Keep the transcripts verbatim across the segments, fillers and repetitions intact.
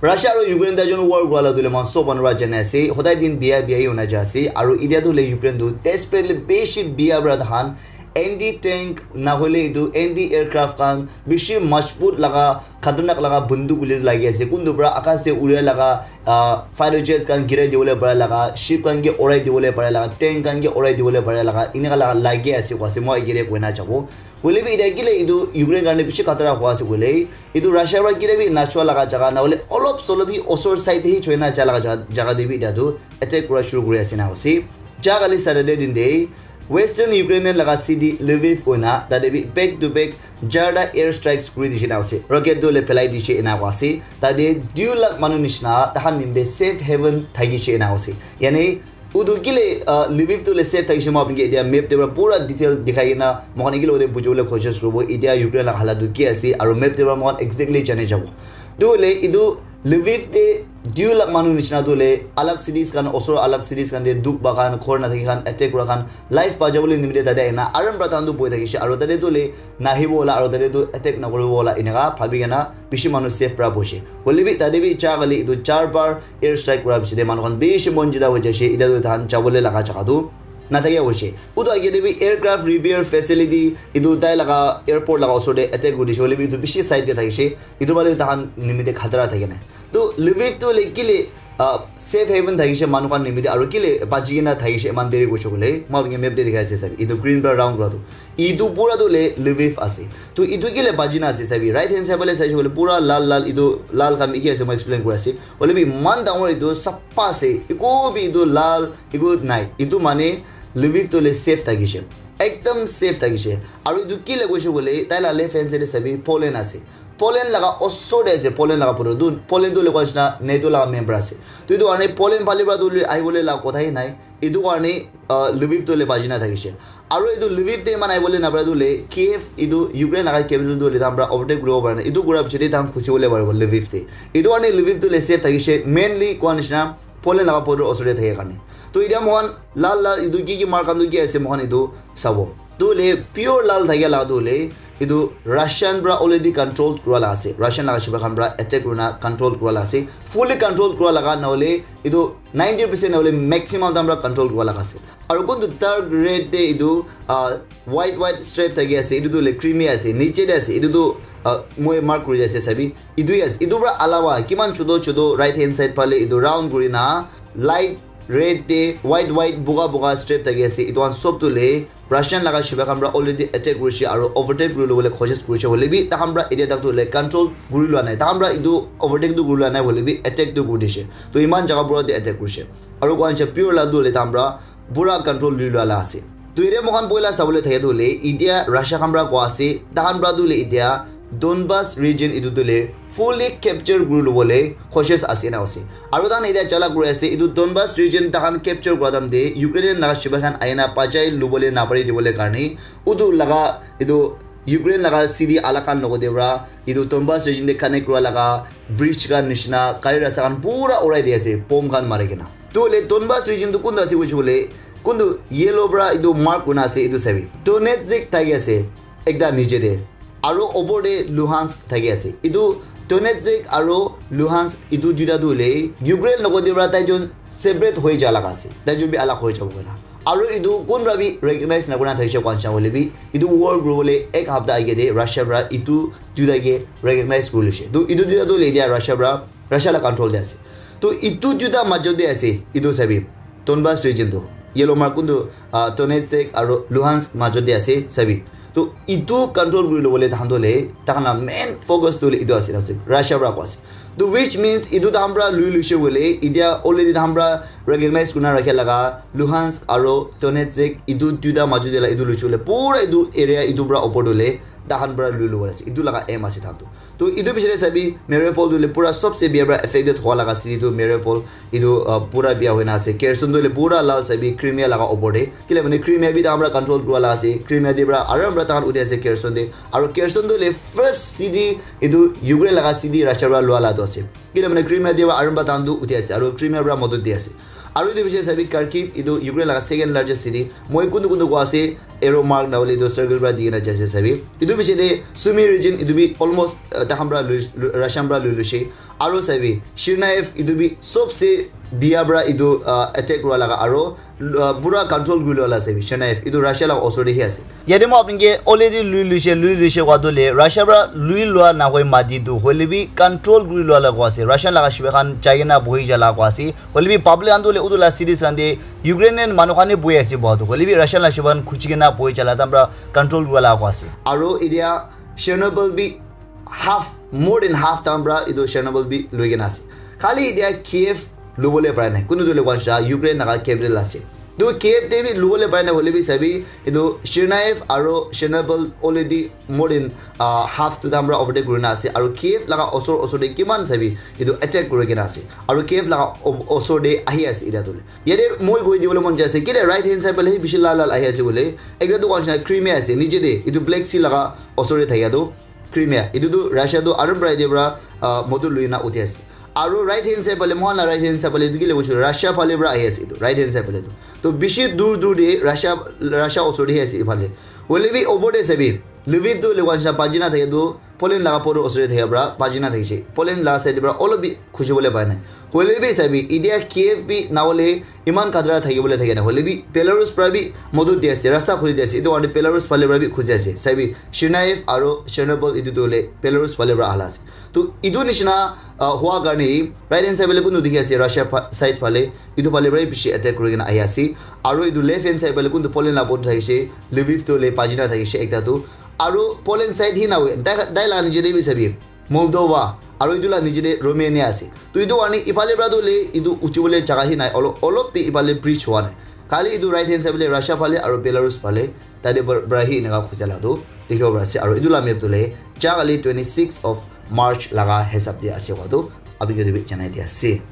Russia aru Ukraine tai jon war kura la tu le man sob manu para jane ase. Hodai din bia bia hi hona ja ase. Aru idia tu le Ukraine tu desperately beshi bia para tahan anti tank na hoile itu anti aircraft khan bishi majbut laga khatarnak laga bunduk ule lagi ase. Kuntu para akas te uria laga ah, fighter jets khan girai dibole para laga, ship khan ke orai dibole para laga, tank khan ke orai dibole para laga, inaka laga lagi ase kwa ase, moi agere koina jabo. Hoile bi itia kile itu Ukraine karne bishi khatara hua ase koile, itu Russia para kile bi nachua laga jaga na hole olop solop hi osor side hi choina ja laga jaga, jaga de bi itia tu attack kura shuru kuri ase na ase. Ja kali Saturday din de Western Ukrainian laga city Lviv koina tate bi back to back jarta air strikes kuri dishi na ase. Rocket tu le phelai dishi ena kwa ase. Tate dui lakh manu nishina tahan nimde safe haven thaki she ena ase. Yani udu kile uh, Lviv tu le safe thaki she ma apni ke itia map te para pura detail dikhai na mohan ikile ode bujole koshish kurobo. Itia Ukraine laga halat tu ki ase aru map te para mohan exactly jane jabo. Tu le idu Lviv te dui lakh manu nishina tu le alag cities khan osor alag cities khan te duk ba khan khor na thaki khan attack kura khan life bacha bole nimite tate aina aram pra tandu boi thakishe aru tate tu le nahibo wala aru tate tu attack nakuribo wala eneka bhabi kena bishi manu safe pra boishe. Hoile bi tate bi cha kali idu char bar air strike kura bishi de manu khan bishi mon jida hoi jaishe ida tu tahan chabole laga jaga tu nathakia hoishe. Utu agey te bi aircraft repair facility etu tai laga airport laga osor te attack kuri dishe hoile bi etu bishi side te thakishe. Etu bale tahan nimite khatara thake nai. To Lviv tu hoile kile safe haven thakishe manu khan nimite aru kile bachi kena thakishe eman deri koishe koile moi apni map te dikhai ase sabi etu green para round kura tu etu pura tu hoile Lviv ase. To etu kile bachi na ase sabi right hand side bale saishe koile pura lal lal etu lal khan bi ki ase moi explain kuri ase. Hoile bi eman dangor etu sapha ase eku bi etu lal eku nai etu mane Lviv tu hoile safe thakishe ekdam safe thakishe. Aru etu ki laga hoishe koile tai laga left hand side te sabi Poland ase. Poland laga osor te ase Poland laga border tu Poland tu hoile koa nishina NATO laga member ase. To etu karne Poland phale para tu hoile ahibole laga kotha hi nai. Etu karne Lviv tu hoile bachi na thakishe. Aru etu Lviv te eman ahibole napare tu hoile Kiev etu Ukraine laga capital tu hoile tahan para overtake kuribo pare na etu kura piche te tahan khusi bole paribo Lviv te. Etu karne Lviv tu hoile safe thakishe mainly koa nishina Poland laga border osor te thake karne. To etia moikhan lal lal etu ki ki mar khan tu ki ase moikhan etu sabo. Tu hoile pure lal thakia laga tu hoile etu Russian para already control kura laga ase. Russian laga shiba khan para attack kurina control kura laga ase. Fully control kura laga na hoile etu ninety percent na hoile maximum tahan para control kura laga ase. Aru kuntu dark red te etu ah, white white stripe thaki ase etu tu hoile Crimea ase niche te ase etu tu ah, moi mark kuri ase sabi etu hi ase etu para alawa kiman choto choto right hand side phale etu round kuri na light red te white white boga boga stripe thaki ase etu khan sob tu hoile Russian laga shiba khan para already attack kurishe aru overtake kuri lobole koshish kurishe hoile bi tahan para etia tak tu hoile control kuri lua nai tahan para etu overtake tu kuri lua nai hoile bi attack tu kuri dishe to eman jaga pura te attack kurishe aru koa nishina pure la tu hoile tahan para pura control lui lua la ase. To etia moikhan poila sabole thake tu hoile etia Russia khan para koa ase tahan para tu hoile etia Donbas region etu tu hoile fully capture kuri lobole koshish ase na ase. Aru tahan etia chala kuri ase etu Donbas region tahan capture kura time te Ukrainian laga shiba khan ahina bachai lobole napari dibole karne utu laga etu Ukraine laga city alak khan logote para etu Donbas region te connect kura laga bridge khan nishina gari rasta khan pura urai di ase bomb khan mari kena. Tu hoile Donbas region tu kuntu ase koishe koile kuntu yellow para etu mark kurina ase etu sabi. Donetsk thaki ase ekta niche te aru opor te Luhansk thaki ase. Etu Donetsk aru Luhansk etu duita tu hoile Ukraine logote para tai jon separate hoi ja laga ase. Tai jon bi alag hoi jabo koina. Aru etu kun para bi recognize nakura thakishe koa nishina hoile bi etu war kuribole ek hapta age te Russia para etu duita ke recognize kuri loishe. Tu etu duita tu hoile etia Russia para Russia la control te ase. To etu duita majot te ase etu sabi Donbas region tu yellow mark kuntu uh, Donetsk aru Luhansk majot te ase sabi. To etu control kuri lobole tahan tu hoile tahan la main focus tu hoile etu ase Russia para koa ase. To which means etu tahan para lui loishe koile etia already tahan para recognize kurina rakha laga Luhansk aru Donetsk etu duita majot te la etu loishe koile pura etu area etu para opor tu hoile tahan para lui lobo ase etu laga aim ase tahan tu. To etu piche te sabi Mariupol tu hoile pura sobse bia para affected hua laga city tu Mariupol etu uh, pura bia hoina ase. Kherson tu hoile pura lal sabi Crimea laga opor te kile mane Crimea bi tahan para control kura laga ase. Crimea te para aram para tahan uthi ase Kherson te aru Kherson tu hoile first city etu Ukraine laga city Russia para lua la tu ase. Kile mane Crimea te para aram para tahan tu uthi ase aru Crimea para modot di ase. Aru etu piche sabi Kharkiv etu Ukraine laga second largest city. Moi kuntu kuntu koa ase arrow mark na hoile etu circle para di kena jai ase sabi. Etu piche te Sumy region etu bi almost uh, tahan para lui- lui- Russian para lui loishe. Aro sabi, Tsarnaev etu bi sobse biya pra etu, ah, attack kura laga aro, ah, pura control kuri loa la sabi, Tsarnaev etu Russia laga osor te hi ase. Yate moi apni ke already lui luise, lui luise koa tu le, Russia pra lui lua na hoi mati tu, hoile bi control kuri lua la koa ase. Russian laga shibai khan jai kena bohi ja la koa ase. Hoile bi public khan tu le utu la cities khan te Ukrainian manu khan he bohi ase boha tu. Hoile bi Russian la shibai khan khuchi kena bohi ja la tam pra control kuri la koa ase. Aro etia Chernobyl bi half, more than half time pra etu Chernobyl bi lui kena ase. Khali etia Kiev lubole parai nai. Kunu tu le koa Ukraine laga capital ase. Tu Kiev te bi lubole parai nai hoile bi sabi, etu Tsarnaev aro Chernobyl already more than, ah, half tu time pra overtake kuri na ase. Aro Kiev laga osor osor te kiman sabi, etu attack kuri kena ase. Aro Kiev laga o-, osor te ahi ase etia tu le. Yate moi koi dibole mon jai ase, kile right hand side phale he bishi lal lal ahi ase bole. Ekta tu koa nishina Crimea ase, niche te, etu Black Sea laga osor te thakia tu Crimea. Etu tu Russia tu aram pra yate pra, ah, motor lui na uthi ase. Aro right hand side phale, moi khan la right hand side phale, etu kile koishe, Russia phale pra ahi ase etu, right hand side phale tu. To bishi dur dur te Russia, Russia osor te he ase ephale. Hoile bi opor te sabi, Lviv tu le koa nishina baji na thake tu, Poland laga border osor te thake pra baji na thakishe. Poland laga side pra olop bi khuji bole pai nai. Hoile bi sabi, etia Kiev bi na hole iman khatra thaki bole thake na. Hoile bi Belarus pra bi modot di ase, rasta khuli di ase. Etu karne Belarus phale pra bi khuji ase. Sabi, Tsarnaev aro Chernobyl etu tu le Belarus phale pra ahala ase. To etu nishina, ah, hua karne right hand side phale kunu dikhi ase, Russia pha-, side phale, etu phale pra bishi attack kuri kena ahi ase. Aro etu left hand side phale kunu Poland la border thakishe, Lviv tu le baji na thakishe ekta tu. Aro Poland side hi na hoi, tai, tai la niche te bi sabi, Moldova, aro etu la niche te Romania ase. To etu karne ephale pra tu le etu uthi bole jaga hi nai, olo-, olop bi ephale bridge hua nai. Khali etu right hand side phale Russia phale aro Belarus phale, tate pra, pra hi eneka khuja la tu dikhibo para ase. Aro etu la map tu le ja kali twenty six of March laga hisab te ase koa tu apni ke tu bi janai di ase.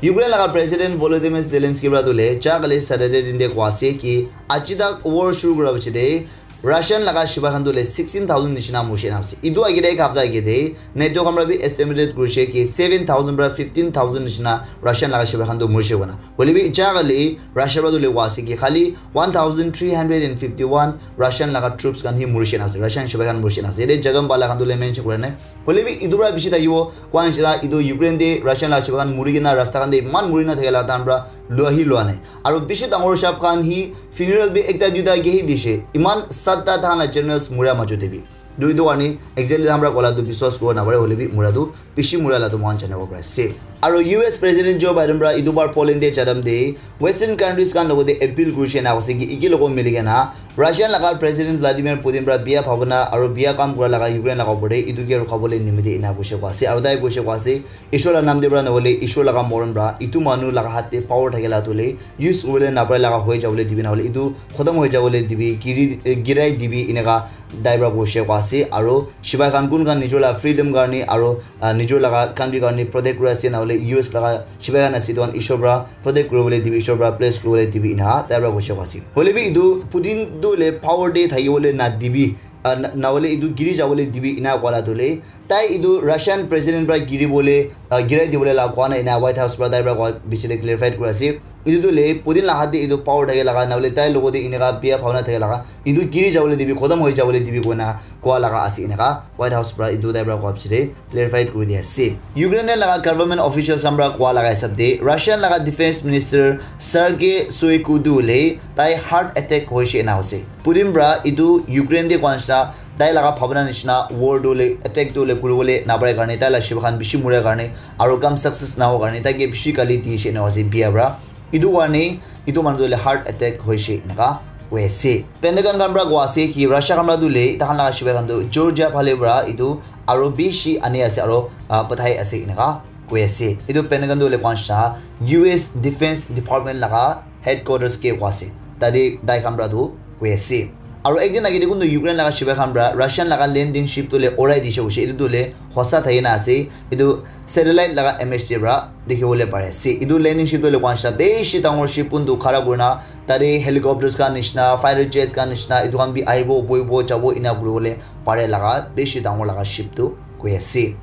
Ukraine laga President Volodymyr Zelensky pra tu le ja kali Saturday din te koa ase ki aji tak war shuru kura piche te Russian laga shibai khan tu le sixteen thousand nishina murishe na ase. Etu age te ek hapta age te NATO khan pra bi estimated kurishe ki seven thousand pra fifteen thousand nishina Russian laga shibai khan tu murishe koina. Hoile bi ja kali Russia pra tu le koa ase ki khali one thousand three hundred and fifty one Russian laga troops khan hi murishe na ase. Russian shibai khan murishe na ase. Yate jaga pala khan tu le mention kura nai. Hoile bi etu pra bishi thakibo, koa nishina etu Ukraine te Russian laga shibai khan muri kena rasta khan te iman muri na thake la time pra lua hi lua nai. Aro bishi dangor shap khan hi funeral bi ekta duita ke hi dishe. Iman satta thana generals muria majo te bi. Tu etu karne exactly hamra kola tu biswas kuribo napare hoile bi mura tu bishi mura la tu moikhan janibo pari ase. Aro U S President Joe Biden pra etu bar Poland te jadam te Western countries khan logote appeal kurishe na koise ki iki logo mili kena Russian laga President Vladimir Putin pra biya bhabona aro biya kam kura laga Ukraine laga opor te etu ke rukhabole nimite ena koishe koa ase. Aro tai koishe koa ase, Ishwar la nam te pra nahole Ishwar laga moron pra etu manu laga hat te power thakela tu le use kuribole napare laga hoi jabole dibi nahole etu khotom hoi jabole dibi, giri, eh, girai dibi eneka tai pra koishe koa ase. Aro shibai khan kun khan nijor la freedom karne aro, ah, nijor laga country karne protect kuri ase nahole U S laga shibai khan ase etu khan Ishwar pra protect kuribole dibi, Ishwar pra bless kuribole dibi eneka tai pra koishe koa ase. Hoile bi etu Putin tu le power te thakibole na dibi, ah, na, nahole etu giri jabole dibi eneka koa la tu le tai etu Russian president pra giri bole, ah, girai dibole la koa na ena White House pra tai pra koa bishi te clarified kuri ase. Etu tu le Putin la hat te etu power thake laga nahole tai logote eneka biya bhabona thake laga etu giri jabole dibi, khotom hoi jabole dibi koina koa laga ase eneka White House pra etu tai pra koa bishi te clarified kuri di ase. Ukraine laga government officials khan pra koa laga hisab te Russian laga defense minister Sergei Shoigu tu le tai heart attack hoishe ena ase. Putin pra etu Ukraine te koa nishina tai laga bhabona nishina war tu le attack tu le kuribole napare karne tai la shibai khan bishi muria karne aro kam success naho karne tai ke bishi gali dishe ena ase biya pra. Etu karne etu manu tu le heart attack hoishe eneka koi ase. Pentagon khan pra koa ase ki Russia khan pra tu le tai khan laga shibai khan tu Georgia phale pra etu aro bishi ani ase aro, ah, pathai ase eneka koi ase. Etu Pentagon tu le koa nishina U S Defense Department laga headquarters ke koa ase. Tate tai khan pra tu koi ase. Aro ekdin age te kuntu Ukraine laga shibai khan pra Russian laga landing ship tu le urai dishe koishe. Etu tu le hosa thaki na ase. Etu satellite laga image te pra dikhi bole pare ase. Etu landing ship tu le koa nishina bishi dangor ship kuntu khara kuri na tate helicopters khan nishina, fighter jets khan nishina, etu khan bi ahibo, bohibo, jabo ena kuribole pare laga bishi dangor laga ship tu koi ase.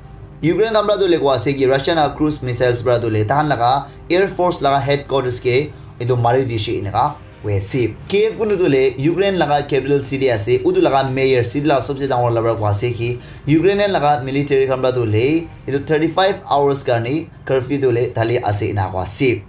Ukraine khan pra tu le koa ase ki Russian laga cruise missiles pra tu le tai khan laga air force laga headquarters ke etu mari dishe eneka Kiev kunu tu le Ukraine laga capital city ase, utu laga mayor, city laga sabse dangor laga para koa ase ki Ukrainian laga military khan para tu le etu thirty-five hours karne curfew tu le thali ase ena koa ase.